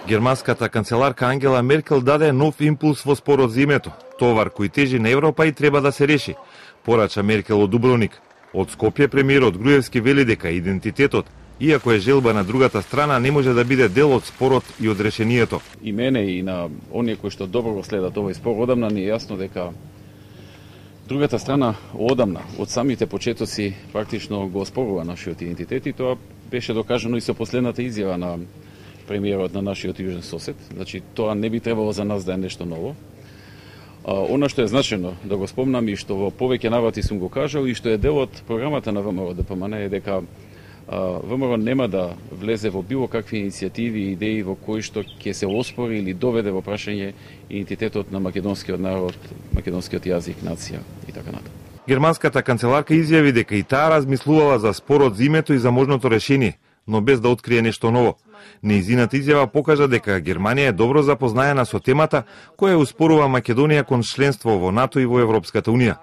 Германската канцеларка Ангела Меркел даде нов импулс во спорот за името. Товар кој тежи на Европа и треба да се реши, порача Меркел од Дубровник. Од Скопје премиерот Груевски вели дека идентитетот, иако е желба на другата страна, не може да биде дел од спорот и од решението. И мене и на оние кои што добро го следат овој спор одамна ни е јасно дека другата страна одамна, од самите почетоци практично го оспорува нашиот идентитет и тоа беше докажано и со последната изјава на премиерот на нашиот јужен сосед. Значи тоа не би требало за нас да е нешто ново. Она што е значено да го спомнам и што во повеќе наврати сум го кажал и што е дел од програмата на ВМРО ДПМН е дека ВМРО нема да влезе во било какви иницијативи и идеи во кои што ќе се оспори или доведе во прашање идентитетот на македонскиот народ, македонскиот јазик, нација и така натаму. Германската канцеларка изјави дека и таа размислувала за спорот за името и за можното решение, но без да открие нешто ново. Нејзината изјава покажа дека Германија е добро запознаена со темата која успорува Македонија кон членство во НАТО и во Европската Унија.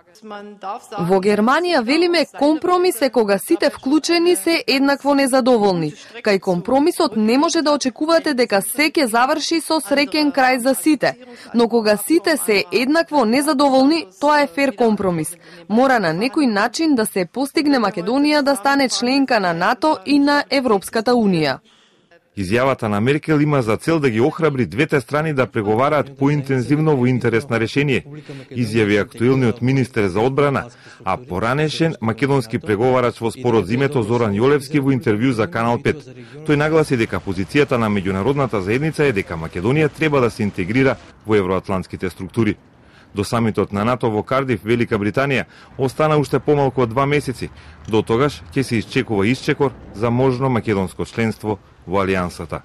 Во Германија велиме компромис е кога сите вклучени се еднакво незадоволни. Кај компромисот не може да очекувате дека се ќе заврши со среќен крај за сите, но кога сите се еднакво незадоволни, тоа е фер компромис. Мора на некој начин да се постигне Македонија да стане членка на НАТО и на Европската Унија. Изјавата на Меркел има за цел да ги охрабри двете страни да преговараат поинтензивно во интерес на решение, изјави актуелниот министер за одбрана, а поранешен македонски преговарач во спорот за името Зоран Јолевски во интервју за Канал 5. Тој нагласи дека позицијата на меѓународната заедница е дека Македонија треба да се интегрира во евроатлантските структури. До самитот на НАТО во Кардиф, Велика Британија, остана уште помалку од 2 месеци. До тогаш ќе се исчекува исчекор за можно македонско членство во Алијансата.